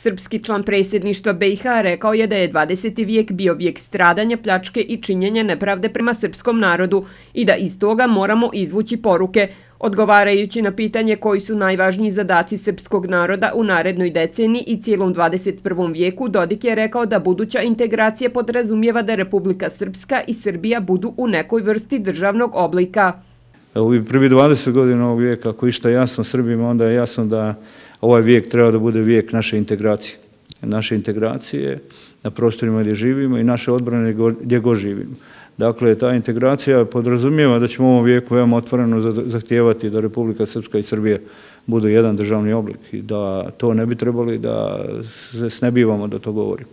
Srpski član predsjedništva BiH rekao je da je 20. vijek bio vijek stradanja, pljačke i činjenja nepravde prema srpskom narodu i da iz toga moramo izvući poruke. Odgovarajući na pitanje koji su najvažniji zadaci srpskog naroda u narednoj deceniji i cijelom 21. vijeku, Dodik je rekao da buduća integracija podrazumijeva da Republika Srpska i Srbija budu u nekoj vrsti državnog oblika. U prvi 20 godina ovog vijeka, ako išta jasno Srbima, onda je jasno da ovaj vijek treba da bude vijek naše integracije. Naše integracije na prostorima gdje živimo i naše odbrane gdje god živimo. Dakle, ta integracija podrazumijeva da ćemo u ovom vijeku veoma otvoreno zahtijevati da Republika Srpska i Srbija budu jedan državni oblik i da to ne bi trebali da se snebivamo da to govorim.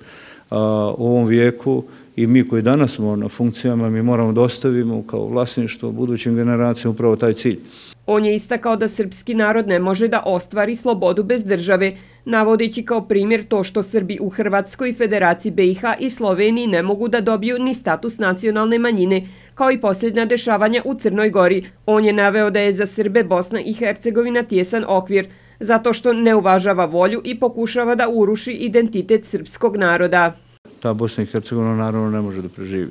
U ovom vijeku i mi koji danas smo na funkcijama, mi moramo da ostavimo kao vlasništvo budućim generacijama upravo taj cilj. On je istakao da srpski narod ne može da ostvari slobodu bez države, navodeći kao primjer to što Srbi u Hrvatskoj, Federaciji BiH i Sloveniji ne mogu da dobiju ni status nacionalne manjine, kao i posljednja dešavanja u Crnoj Gori. On je naveo da je za Srbe Bosna i Hercegovina tijesan okvir, zato što ne uvažava volju i pokušava da uruši identitet srpskog naroda. Ta Bosna i Hercegovina naravno ne može da preživi.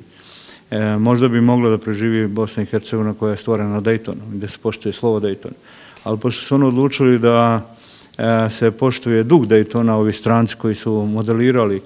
Možda bi mogla da preživi Bosna i Hercegovina koja je stvorena na Daytonu, gdje se poštuje slovo Daytona. Ali pošto su oni odlučili da se poštuje duh Daytona, ovi stranci koji su modelirali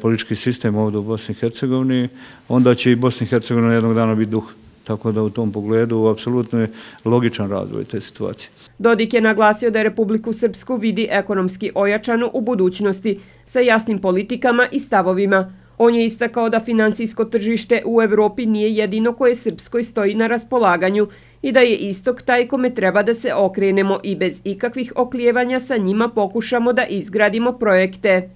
politički sistem ovdje u Bosni i Hercegovini, onda će i Bosna i Hercegovina jednog dana biti duh. Tako da u tom pogledu apsolutno je logičan razvoj te situacije. Dodik je naglasio da Republiku Srpsku vidi ekonomski ojačanu u budućnosti sa jasnim politikama i stavovima. On je istakao da finansijsko tržište u Evropi nije jedino koje Srpskoj stoji na raspolaganju i da je istok taj kome treba da se okrenemo i bez ikakvih oklijevanja sa njima pokušamo da izgradimo projekte.